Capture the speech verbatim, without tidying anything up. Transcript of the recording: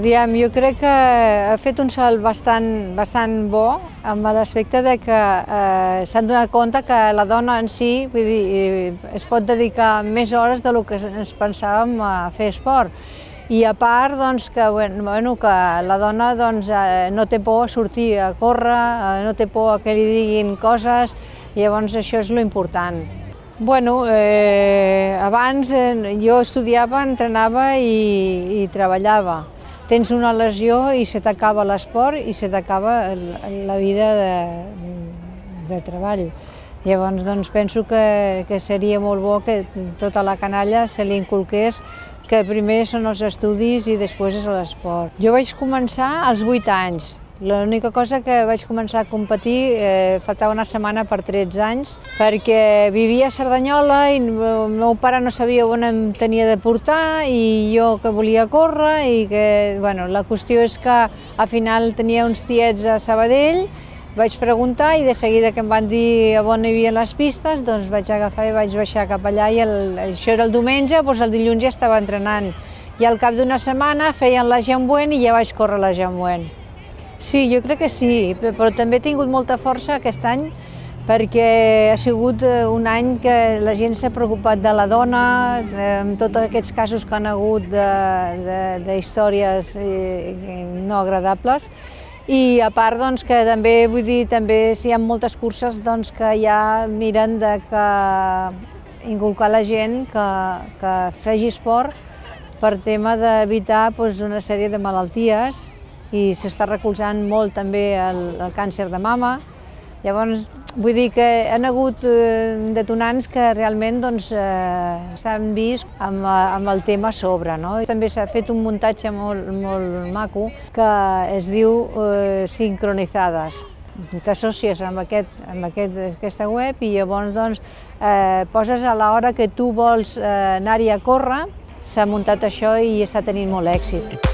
Aviam, jo crec que ha fet un salt bastant, bastant bo amb l'aspecte de que eh, s'han donat compte que la dona en si, vull dir, es pot dedicar més hores del que ens pensàvem a fer esport. I a part, doncs, que, bueno, que la dona doncs, eh, no té por a sortir a córrer, eh, no té por a que li diguin coses, i llavors això és l'important. Bueno, eh, abans eh, jo estudiava, entrenava i, i treballava. Tens una lesió i se t'acaba l'esport i se t'acaba la vida de, de treball. Llavors, doncs, penso que, que seria molt bo que tota la canalla se li inculqués que primer són els estudis i després és l'esport. Jo vaig començar als vuit anys. L'única cosa que vaig començar a competir eh, faltava una setmana per tretze anys, perquè vivia a Cerdanyola i el meu pare no sabia on em tenia de portar i jo que volia córrer i que, bueno, la qüestió és que al final tenia uns tiets a Sabadell, vaig preguntar i de seguida que em van dir on hi havia les pistes, doncs vaig agafar i vaig baixar cap allà i el, això era el diumenge, doncs el dilluns ja estava entrenant. I al cap d'una setmana feien la Jambuent i ja vaig córrer la Jambuent. Sí, jo crec que sí, però també he tingut molta força aquest any perquè ha sigut un any que la gent s'ha preocupat de la dona, amb tots aquests casos que han hagut d'històries no agradables. I a part, doncs, que també, vull dir, també si hi ha moltes curses doncs, que ja miren de que inculcar la gent que, que faci esport per tema d'evitar doncs, una sèrie de malalties, i s'està recolzant molt també el, el càncer de mama. Llavors, vull dir que han hagut eh, detonants que realment doncs, eh, s'han vist amb, amb el tema a sobre. No? També s'ha fet un muntatge molt, molt maco que es diu eh, Sincronitzades. T'associes amb, aquest, amb aquest, aquesta web i llavors doncs, eh, poses a l'hora que tu vols eh, anar-hi a córrer, s'ha muntat això i està tenint molt èxit.